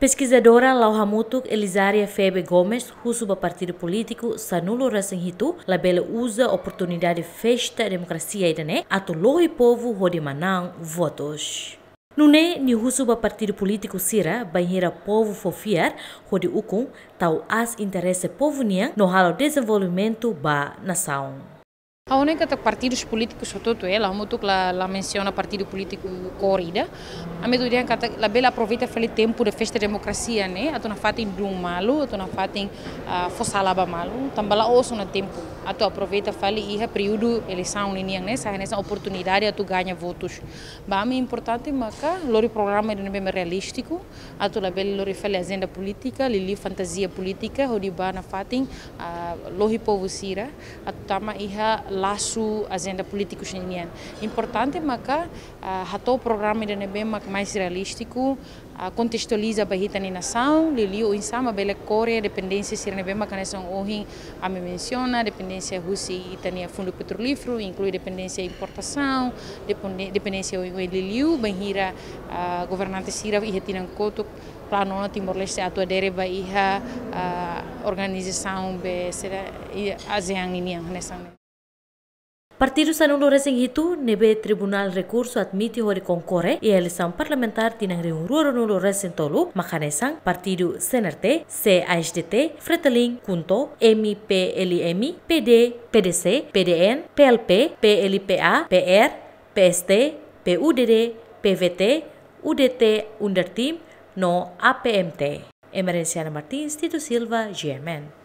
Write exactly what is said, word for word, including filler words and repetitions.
Peskizadora Lau Hamutuk Elizaria Febe Gomes husu ba partidu polítiku sanulu resin hitu labele uza oportunidade festa demokrasia ida-ne'e atu lohi povu hodi manán votus. Nune'e nia husu ba partidu polítiku sira bainhira povu fó fiar hodi ukun tau aas interese povu nian no halo dezenvolvimentu ba nasaun. Ha'u hanoin katak partidus polítikus hotu-hotu, eh, Lau Hamutuk la, la mensiona partidu polítiku kór ida. Ami atu dehan katak labele aproveita fali tempu de festa demokrasia ne'e atu nafatin duun malu, atu nafatin, ah, fó sala ba malu. Tanba la'ós ona tempu atu aproveita fali iha períodu eleisaun ninian ne'e, sai hanesan oportunidade atu gaña votus. Ba ami importante maka lori programa ida ne'ebé mak realístiku, atu labele lori fali ajenda polítika, liuliu fantazia polítika, hodi ba nafatin, ah, lohi povu sira atu tama iha lasu ajenda polítiku sira-nian. Importante maka, ah, hato'o programa ida ne'ebé mak mais realístiku, ah, kontestualiza ba ita-nia nasaun, liuliu oinsá mak bele kore dependénsia sira ne'ebé mak hanesan ohin ami mensiona, dependénsia husi ita-nia fundu petrolíferu, inklui dependénsia importasaun, depende-, dependénsia oioin, liuliu bainhira, ah, governante sira iha tinan kotuk planu ona Timor-Leste atu adere ba iha, ah, organizasaun be sira iha ASEAN ninian hanesan ne'e. Partidu sanulu resin hitu ne'ebé Tribunál Rekursu admite hodi konkorre iha eleisaun parlamentár tinan rihun rua ruanulu resin tolu mak hanesan partidu C N R T, C A S D T, Fretilin, KHUNTO, M P L M, P D, P D C, P D N, P L P, P L P A, P R, P S T, P U D D, P V T, U D T, UNDERTIM no A P M T. Emerenciana Martins, Tito Silva, G M N.